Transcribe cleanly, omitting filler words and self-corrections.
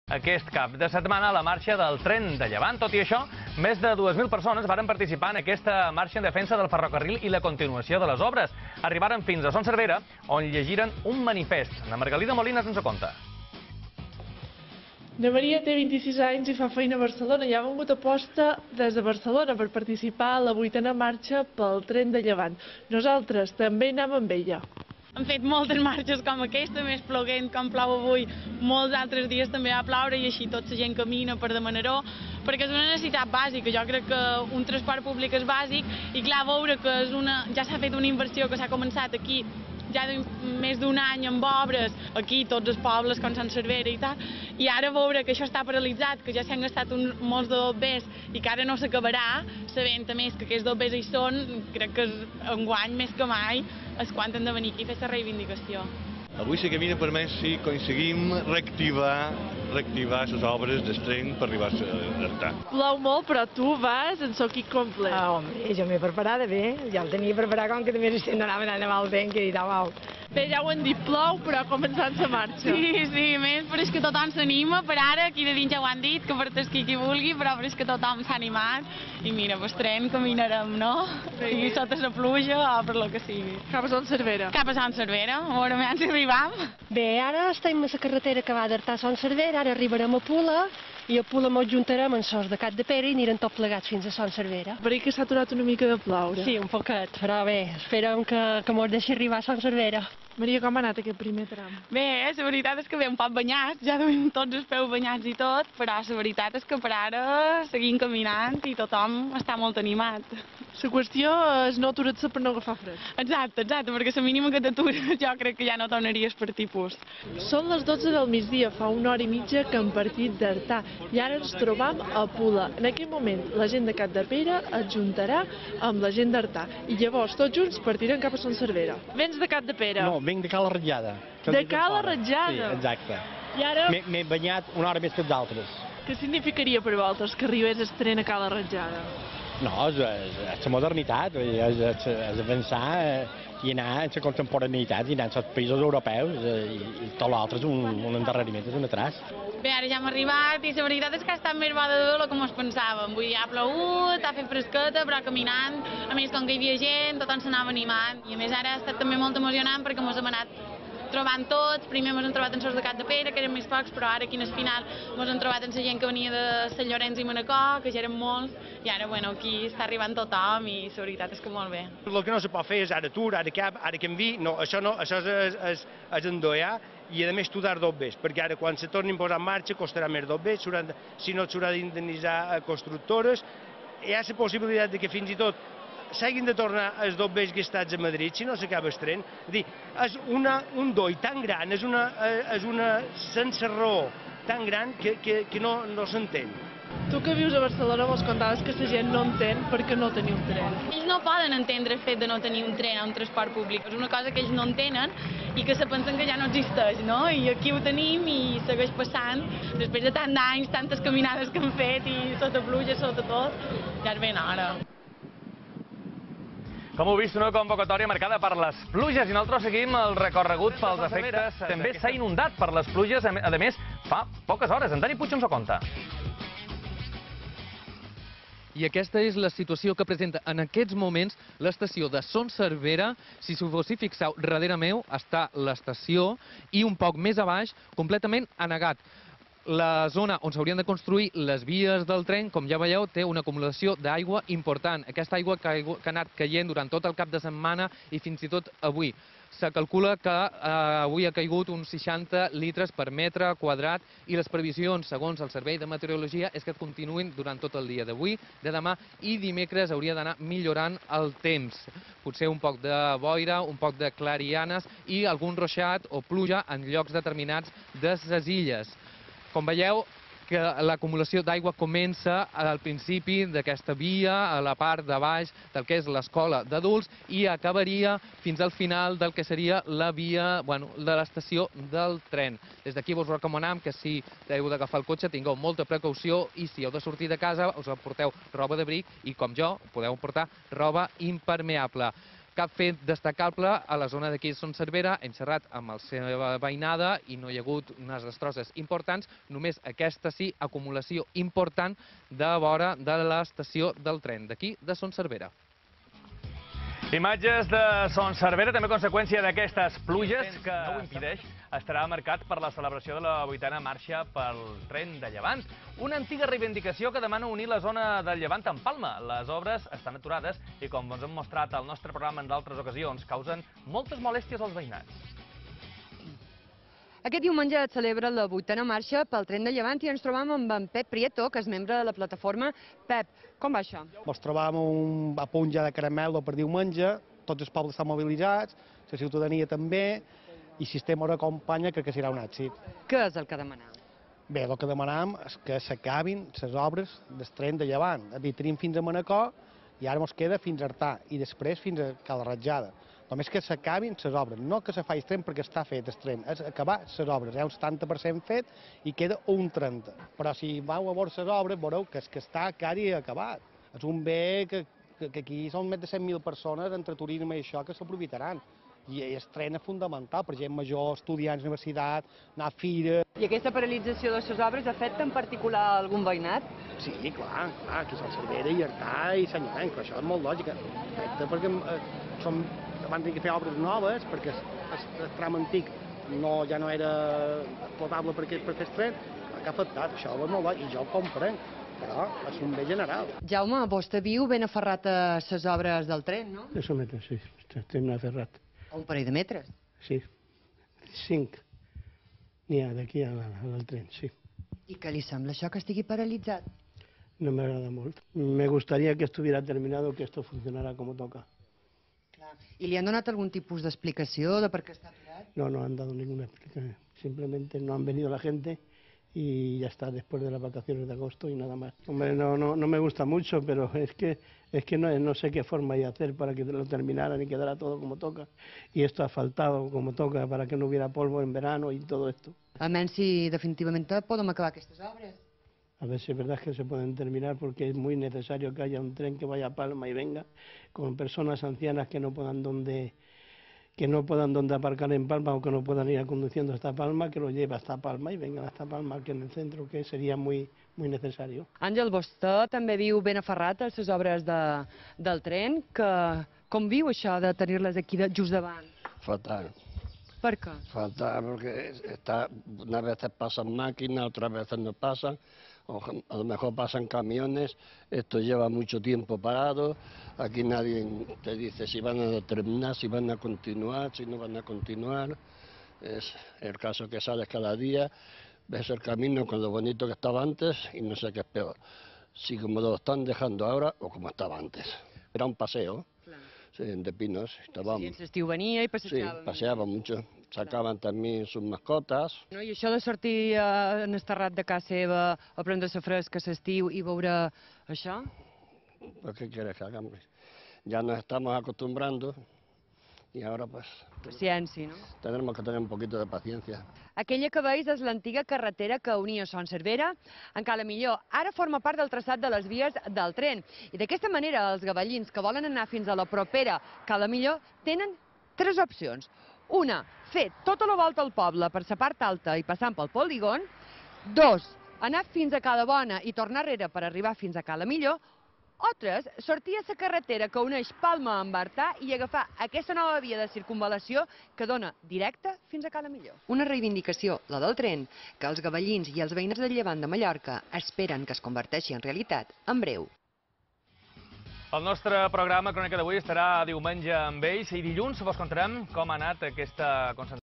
Aquest cap de setmana la marxa del tren de Llevant. Tot i això, més de 2.000 persones varen participar en aquesta marxa en defensa del ferrocarril i la continuació de les obres. Arribaren fins a Son Servera, on llegiren un manifest. Na Margalida Molina ens ho conta. Na Maria té 26 anys i fa feina a Barcelona i ha vengut a posta des de Barcelona per participar a la 8a marxa pel tren de Llevant. Nosaltres també anem amb ella. Hem fet moltes marxes com aquesta, més ploguent com plou avui, molts altres dies també va ploure i així tota la gent camina per demanar-ho, perquè és una necessitat bàsica. Jo crec que un transport públic és bàsic i clar, veure que ja s'ha fet una inversió que s'ha començat aquí ja més d'un any amb obres, aquí tots els pobles com Sant Servera i tal, i ara veure que això està paralitzat, que ja s'han gastat molts de dobbers i que ara no s'acabarà, sabent a més que aquests dobbers hi són, crec que enguany més que mai és quan hem de venir aquí a fer la reivindicació. Avui la camina permet si aconseguim reactivar les obres del tren per arribar a Artà. Plou molt, però tu vas en soquic complet. Home, jo m'he preparada bé, ja el tenia preparat com que també estem anant a el vent, que he dit, au. Bé, ja ho hem dit, plou, però començant la marxa. Sí, més, però és que tothom s'anima, per ara, aquí de dins ja ho han dit, que per tasquir qui vulgui, però és que tothom s'ha animat, i mira, pues tren caminarem, no? Sigui sota la pluja o per lo que sigui. Cap a Son Servera. Cap a Son Servera, a veure si arribam. Bé, ara estem a la carretera que va d'Artà a Son Servera, ara arribarem a Pula, i a Pula ens juntarem en Sos de Capdepera i anirem tots plegats fins a Son Servera. Per que s'ha aturat una mica de ploure. Sí, un poquet, però bé, esperem que mos deixi arribar a Son Servera. Maria, com ha anat aquest primer tram? Bé, la veritat és que ve un poc banyats, ja duim tots els peus banyats i tot, però la veritat és que per ara seguim caminant i tothom està molt animat. La qüestió és no aturar-se per no agafar fred. Exacte, perquè la mínima que t'atures jo crec que ja no tornaries per tipus. Són les 12 del migdia, fa una hora i mitja que hem partit d'Artà i ara ens trobam a Pula. En aquest moment la gent de Capdepera es juntarà amb la gent d'Artà i llavors tots junts partirem cap a Son Servera. Vens de Capdepera? No, vinc de Cala Ratjada. De Cala Ratjada? Sí, exacte. I ara... M'he banyat una hora més que els altres. Què significaria per vosaltres que arribés el tren a Cala Ratjada? No, és la modernitat, és avançar i anar en la contemporaneïtat i anar als països europeus i tot l'altre és un endarreriment, és un atras. Bé, ara ja hem arribat i la veritat és que ha estat més bo de tot com ens pensàvem. Vull dir, ha plogut, ha fet fresqueta, però caminant, a més com que hi havia gent, tothom s'anava animant. I a més ara ha estat també molt emocionant perquè ens hem anat trobant tots, primer ens hem trobat en Sos de Capdepera, que eren més pocs, però ara aquí al final ens hem trobat en la gent que venia de Sant Llorenç i Manacor, que ja eren molts, i ara aquí està arribant tothom i la veritat és que molt bé. El que no se pot fer és ara atur, ara cap, ara canvi, no, això és endoiar i a més tu dar dobbers, perquè ara quan se tornin a posar en marxa costarà més dobbers, si no s'haurà d'indemnitzar a constructores, hi ha la possibilitat que fins i tot s'hagin de tornar els dobbers gastats a Madrid si no s'acaba el tren. És un doi tan gran, és una sense raó tan gran que no s'entén. Tu que vius a Barcelona mos contaves que la gent no entén perquè no teniu un tren. Ells no poden entendre el fet de no tenir un tren o un transport públic. És una cosa que ells no entenen i que se pensen que ja no existeix, no? I aquí ho tenim i segueix passant. Després de tant d'anys, tantes caminades que hem fet i sota pluja, sota tot, ja és ben hora. Com heu vist, una convocatòria marcada per les pluges i nosaltres seguim el recorregut pels efectes. També s'ha inundat per les pluges, a més, fa poques hores. En Dani Puig ens ho conta. I aquesta és la situació que presenta en aquests moments l'estació de Son Servera. Si s'ho fos fixeu, darrere meu està l'estació i un poc més a baix, completament anegat. La zona on s'haurien de construir les vies del tren, com ja veieu, té una acumulació d'aigua important. Aquesta aigua que ha anat caient durant tot el cap de setmana i fins i tot avui. Se calcula que avui ha caigut uns 60 litres per metre quadrat i les previsions, segons el Servei de Meteorologia, és que continuïn durant tot el dia d'avui, de demà i dimecres hauria d'anar millorant el temps. Potser un poc de boira, un poc de clarianes i algun ruixat o pluja en llocs determinats de les illes. Com veieu, que l'acumulació d'aigua comença al principi d'aquesta via, a la part de baix del que és l'escola d'adults, i acabaria fins al final del que seria la via de l'estació del tren. Des d'aquí vos recomanem que si heu d'agafar el cotxe tingueu molta precaució i si heu de sortir de casa us porteu roba d'abric i, com jo, podeu portar roba impermeable. cap fet destacable a la zona d'aquí Son Servera. Hem xerrat amb la seva veïnada i no hi ha hagut unes destrosses importants, només aquesta sí, acumulació important de vora de l'estació del tren d'aquí de Son Servera. Imatges de Son Servera, també conseqüència d'aquestes pluges, que no ho impedeix, estarà marcat per la celebració de la 8a marxa pel tren de Llevant. Una antiga reivindicació que demana unir la zona del Llevant amb Palma. Les obres estan aturades i, com ens hem mostrat al nostre programa en d'altres ocasions, causen moltes molèsties als veïnats. Aquest diumenge es celebra la 8a marxa pel tren de Llevant i ens trobam amb en Pep Prieto, que és membre de la plataforma. Pep, com va això? Ens trobam a punt ja de caramel per diumenge, tots els pobles estan mobilitzats, la ciutadania també, i si estem a acompanya crec que serà un èxit. Què és el que demaneu? Bé, el que demanem és que s'acabin les obres del tren de Llevant. És a dir, tenim fins a Manacor i ara ens queda fins a Artà i després fins a Cala Ratjada. Només que s'acabin les obres, no que se faci el tren perquè està fet el tren, és acabar les obres. Hi ha un 70% fet i queda un 30%. Però si vau a veure les obres, veureu que està quasi acabat. És un bé que aquí són més de 100.000 persones entre turisme i això que s'aprofitaran. I el tren és fundamental per gent major, estudiants, universitat, anar a fira. I aquesta paralització de les obres afecta en particular algun veïnat? Sí, clar, aquí Son Servera i Artà i Sanyarany, però això és molt lògic. Afecta perquè van tenir que fer obres noves, perquè el tram antic ja no era potable per fer el tren, que ha afectat, això és molt lògic, i jo ho comprenc, però és un bé general. Jaume, vostè viu ben aferrat a les obres del tren, no? Eso metres, sí, estem aferrat. Un parell de metres? Sí, 5 n'hi ha d'aquí al tren, sí. I què li sembla això que estigui paralitzat? No m'agrada molt. Me gustaría que estuviera terminado, que esto funcionara como toca. I li han donat algun tipus d'explicació de per què està aturat? No, no han dado ninguna explicación. Simplemente no han venido la gente y ya está, después de las vacaciones de agosto y nada más. Hombre, no me gusta mucho, pero es que no sé qué forma hay de hacer para que lo terminaran y quedara todo como toca. Y esto ha faltado como toca para que no hubiera polvo en verano y todo esto. Almenys si definitivament podem acabar aquestes obres. A ver si es verdad que se pueden terminar, porque es muy necesario que haya un tren que vaya a Palma y venga con personas ancianas que no puedan donde aparcar en Palma o que no puedan ir conduciendo hasta Palma, que lo lleve hasta Palma y vengan hasta Palma, que en el centro, que sería muy necesario. Àngel, vostè també viu ben aferrat a les obres del tren. Com viu això de tenir-les aquí just davant? Fatal. ¿Por qué? Fatal, porque unas veces pasan máquinas, otras veces no pasan, o a lo mejor pasan camiones, esto lleva mucho tiempo parado, aquí nadie te dice si van a terminar, si van a continuar, si no van a continuar, es el caso que sales cada día, ves el camino con lo bonito que estaba antes y no sé qué es peor, si como lo están dejando ahora o como estaba antes. Era un paseo. Sí, de pinos, estábamos. Sí, l'estiu venia i passejàvem. Sí, paseaban mucho. Sacaban también sus mascotas. No, I això de sortir en el terrat de casa seva a prendre-se fresca a l'estiu i veure això? Pues, ¿qué quieres que hagamos? Ya nos estamos acostumbrando y ahora pues... Paciència, no? Tenemos que tener un poquito de paciencia. Aquella que veus és l'antiga carretera que unia Son Servera amb Cala Millor. Ara forma part del traçat de les vies del tren. I d'aquesta manera els gavellins que volen anar fins a la propera Cala Millor tenen 3 opcions. Una, fer tota la volta al poble per la part alta i passant pel polígon. 2, anar fins a Cala Bona i tornar enrere per arribar fins a Cala Millor. O 3, sortir a la carretera que uneix Palma amb Artà i agafar aquesta nova via de circunvalació que dona directe fins a Cala Millor. Una reivindicació, la del tren, que els gavellins i els veïns de Llevant de Mallorca esperen que es converteixi en realitat en breu. El nostre programa Crònica d'avui estarà diumenge amb ells i dilluns vos contarem com ha anat aquesta concentració.